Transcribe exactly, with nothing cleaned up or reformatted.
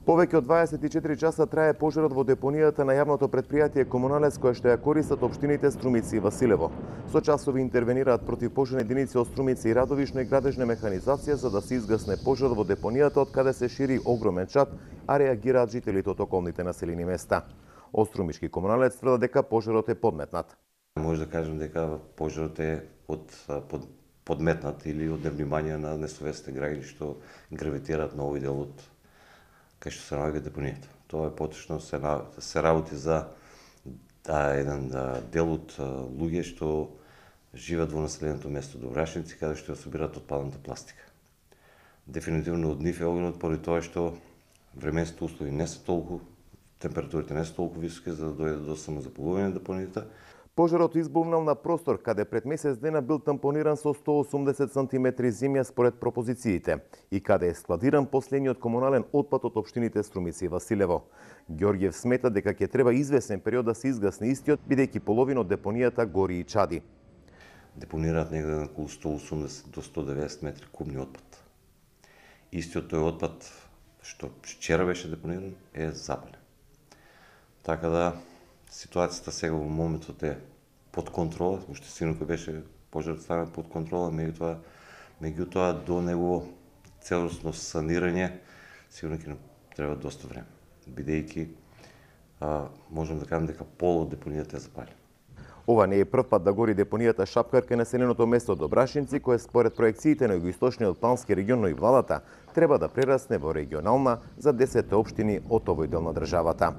Повеќе од дваесет и четири часа трае пожарот во депонијата на јавното претпријатие Комуналес, која што ја користат општините Струмици и Василево. Со часови интервенираат противпожарни единици од Струмици и Радовишно и градежна механизација за да се изгасне пожар во депонијата од каде се шири огромен чад, а реагираат жителите од околните населени места. Острумишки Комуналец тврди дека пожарот е подметнат. Може да кажем дека пожарот е под, под подметнат или од невнимание на несовесните граѓани што гравитираат на овој дел од кај што се наоѓа депонијата. Тоа е поточно се, на, се работи за да, еден да, дел од луѓе што живеат во населеното место Добрашници, каде што ја собираат отпадната пластика. Дефинитивно од нив е огнот поради тоа што временските услови не се толку, температурите не се толку високи за да дојде до самозапалување на депонијата. Пожарот избувнал на простор каде пред месец дена бил тампониран со сто осумдесет сантиметри земја според пропозициите и каде е складиран последниот комунален отпад од општините Струмици и Василево. Ѓорѓев смета дека ќе треба извесен период да се изгасне истиот, бидејќи половина од депонијата гори и чади. Депонираат негде на околу сто осумдесет до сто деветдесет метри кубни отпад. Истиот тој отпад што вчера беше депониран е запален. Така да ситуацијата сега во моментот е под контрола, уште синоќа беше пожарот ставен под контрола, меѓутоа меѓутоа до негово целосно санирање сигурно ќе треба доста време, бидејќи можам да кажам дека пол од депонијата е запален. Ова не е прв пат да гори депонијата Шапкар кај населеното место Добрашинци, кое според проекциите на југоисточниот плански регион, но и владата треба да прерасне во регионална за десет општини од овој дел на државата.